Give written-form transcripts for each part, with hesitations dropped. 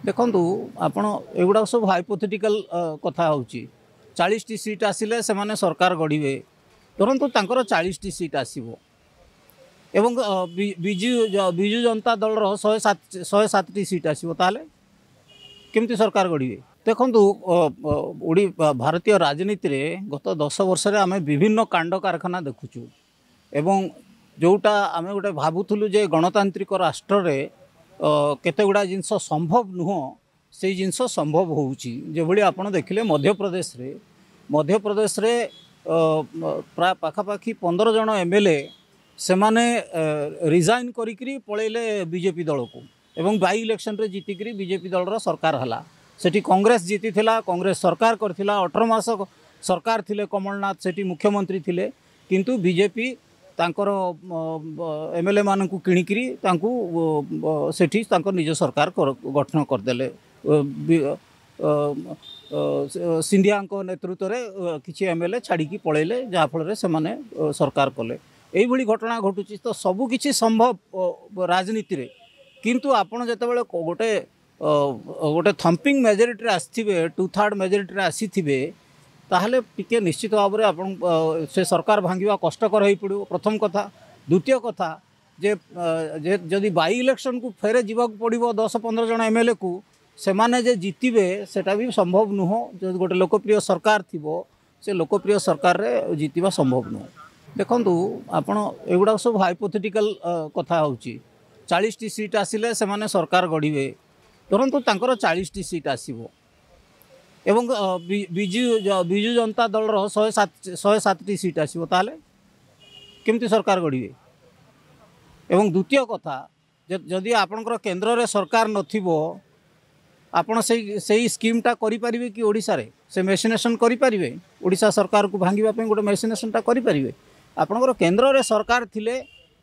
ଦେଖନ୍ତୁ, ଆପଣ ଏଗୁଡ଼ାକ ସବୁ ହାଇପୋଥେଟିକାଲ କଥା ହେଉଛି। 40ଟି ସିଟ୍ ଆସିଲେ ସେମାନେ ସରକାର ଗଢ଼ିବେ। ଧରନ୍ତୁ ତାଙ୍କର 40ଟି ସିଟ୍ ଆସିବ ଏବଂ ବିଜୁ ବିଜୁ ଜନତା ଦଳର 107, 107ଟି ସିଟ୍ ଆସିବ, ତାହେଲେ କେମିତି ସରକାର ଗଢ଼ିବେ? ଦେଖନ୍ତୁ, ଭାରତୀୟ ରାଜନୀତିରେ ଗତ 10 ବର୍ଷରେ ଆମେ ବିଭିନ୍ନ କାଣ୍ଡ କାରଖାନା ଦେଖୁଛୁ ଏବଂ ଯେଉଁଟା ଆମେ ଗୋଟେ ଭାବୁଥିଲୁ ଯେ ଗଣତାନ୍ତ୍ରିକ ରାଷ୍ଟ୍ରରେ କେତେ ଗୁଡ଼ା ଜିନିଷ ସମ୍ଭବ ନୁହଁ, ସେଇ ଜିନିଷ ସମ୍ଭବ ହେଉଛି। ଯେଭଳି ଆପଣ ଦେଖିଲେ ମଧ୍ୟପ୍ରଦେଶରେ ପ୍ରାୟ ପାଖାପାଖି 15 ଜଣ ଏମ୍ ଏଲ୍ ଏ ସେମାନେ ରିଜାଇନ୍ କରିକିରି ପଳେଇଲେ ବିଜେପି ଦଳକୁ ଏବଂ ବାଇ ଇଲେକ୍ସନରେ ଜିତିକିରି ବିଜେପି ଦଳର ସରକାର ହେଲା। ସେଠି କଂଗ୍ରେସ ଜିତିଥିଲା, କଂଗ୍ରେସ ସରକାର କରିଥିଲା, 18 ମାସ ସରକାର ଥିଲେ, କମଳନାଥ ସେଠି ମୁଖ୍ୟମନ୍ତ୍ରୀ ଥିଲେ। କିନ୍ତୁ ବିଜେପି ତାଙ୍କର ଏମ୍ ଏଲ୍ ଏମାନଙ୍କୁ କିଣିକିରି ତାଙ୍କୁ ସେଠି ତାଙ୍କ ନିଜ ସରକାର ଗଠନ କରିଦେଲେ। ସିନ୍ଧିଆଙ୍କ ନେତୃତ୍ୱରେ କିଛି ଏମ୍ ଏଲ୍ ଏ ଛାଡ଼ିକି ପଳେଇଲେ, ଯାହାଫଳରେ ସେମାନେ ସରକାର କଲେ। ଏଇଭଳି ଘଟଣା ଘଟୁଛି। ତ ସବୁକିଛି ସମ୍ଭବ ରାଜନୀତିରେ, କିନ୍ତୁ ଆପଣ ଯେତେବେଳେ ଗୋଟେ ଥମ୍ପିଂ ମେଜରିଟିରେ ଆସିଥିବେ, ଟୁ ଥାର୍ଡ଼ ମେଜରିଟିରେ ଆସିଥିବେ, ତାହେଲେ ଟିକେ ନିଶ୍ଚିତ ଭାବରେ ଆପଣ ସେ ସରକାର ଭାଙ୍ଗିବା କଷ୍ଟକର ହୋଇପଡ଼ିବ, ପ୍ରଥମ କଥା। ଦ୍ୱିତୀୟ କଥା ଯେ ଯଦି ବାଇ ଇଲେକ୍ସନକୁ ଫେରେ ଯିବାକୁ ପଡ଼ିବ 10-15 ଜଣ ଏମ୍ ଏଲ୍ ଏକୁ, ସେମାନେ ଯେ ଜିତିବେ ସେଟା ବି ସମ୍ଭବ ନୁହଁ। ଯଦି ଗୋଟେ ଲୋକପ୍ରିୟ ସରକାର ଥିବ, ସେ ଲୋକପ୍ରିୟ ସରକାରରେ ଜିତିବା ସମ୍ଭବ ନୁହଁ। ଦେଖନ୍ତୁ, ଆପଣ ଏଗୁଡ଼ାକ ସବୁ ହାଇପୋଥେଟିକାଲ କଥା ହେଉଛି। 40ଟି ସିଟ୍ ଆସିଲେ ସେମାନେ ସରକାର ଗଢ଼ିବେ। ଧରନ୍ତୁ ତାଙ୍କର 40ଟି ସିଟ୍ ଆସିବ ଏବଂ ବିଜୁ ବିଜୁ ଜନତା ଦଳର 107, 107ଟି ସିଟ୍ ଆସିବ, ତାହେଲେ କେମିତି ସରକାର ଗଢ଼ିବେ? ଏବଂ ଦ୍ୱିତୀୟ କଥା ଯେ ଯଦି ଆପଣଙ୍କର କେନ୍ଦ୍ରରେ ସରକାର ନଥିବ, ଆପଣ ସେଇ ସ୍କିମ୍ଟା କରିପାରିବେ କି? ଓଡ଼ିଶାରେ ସେ ମେସିନେସନ୍ କରିପାରିବେ? ଓଡ଼ିଶା ସରକାରକୁ ଭାଙ୍ଗିବା ପାଇଁ ଗୋଟେ ମେସିନେସନ୍ଟା କରିପାରିବେ? ଆପଣଙ୍କର କେନ୍ଦ୍ରରେ ସରକାର ଥିଲେ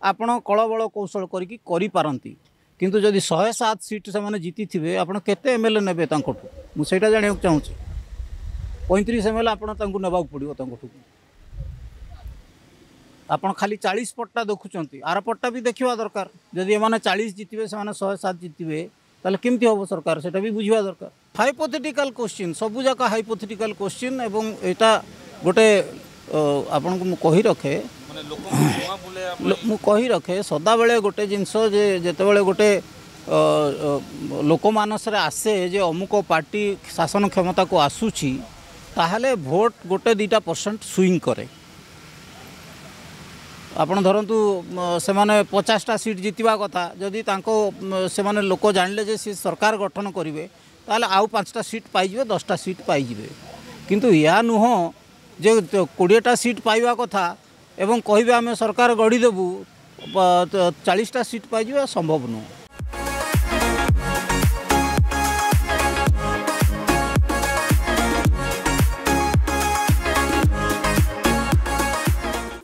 ଆପଣ କଳବଳ କୌଶଳ କରିକି କରିପାରନ୍ତି। କିନ୍ତୁ ଯଦି 107 ସିଟ୍ ସେମାନେ ଜିତିଥିବେ, ଆପଣ କେତେ ଏମ୍ ଏଲ୍ ଏ ନେବେ ତାଙ୍କଠୁ? ମୁଁ ସେଇଟା ଜାଣିବାକୁ ଚାହୁଁଛି। 35 ଏମ୍ ଏଲ୍ ଏ ଆପଣ ତାଙ୍କୁ ନେବାକୁ ପଡ଼ିବ ତାଙ୍କଠୁ। ଆପଣ ଖାଲି 40 ପଟଟା ଦେଖୁଛନ୍ତି, ଆର ପଟଟା ବି ଦେଖିବା ଦରକାର। ଯଦି ଏମାନେ 40 ଜିତିବେ, ସେମାନେ 107 ଜିତିବେ, ତାହେଲେ କେମିତି ହେବ ସରକାର? ସେଇଟା ବି ବୁଝିବା ଦରକାର। ହାଇପୋଥେଟିକାଲ କୋଶ୍ଚିନ୍, ସବୁ ଯାକ ହାଇପୋଥେଟିକାଲ କୋଶ୍ଚିନ୍। ଏବଂ ଏଇଟା ଗୋଟେ ଆପଣଙ୍କୁ ମୁଁ କହି ରଖେ ମାନେ ଲୋକଙ୍କୁ ଭୁଆଁ ବୁଲେଇବା ପାଇଁ। ମୁଁ କହି ରଖେ, ସଦାବେଳେ ଗୋଟେ ଜିନିଷ ଯେ ଯେତେବେଳେ ଗୋଟେ ଲୋକମାନସରେ ଆସେ ଯେ ଅମୁକ ପାର୍ଟି ଶାସନ କ୍ଷମତାକୁ ଆସୁଛି, ତାହେଲେ ଭୋଟ ଗୋଟେ ଦୁଇଟା ପରସେଣ୍ଟ ସୁଇଙ୍ଗ କରେ। ଆପଣ ଧରନ୍ତୁ ସେମାନେ 50ଟା ସିଟ୍ ଜିତିବା କଥା, ଯଦି ତାଙ୍କ ସେମାନେ ଲୋକ ଜାଣିଲେ ଯେ ସେ ସରକାର ଗଠନ କରିବେ, ତାହେଲେ ଆଉ 5ଟା ସିଟ୍ ପାଇଯିବେ, 10ଟା ସିଟ୍ ପାଇଯିବେ। କିନ୍ତୁ ଏହା ନୁହଁ ଯେ 20ଟା ସିଟ୍ ପାଇବା କଥା ଏବଂ କହିବେ ଆମେ ସରକାର ଗଢ଼ିଦେବୁ, 40ଟା ସିଟ୍ ପାଇଯିବା ସମ୍ଭବ ନୁହଁ।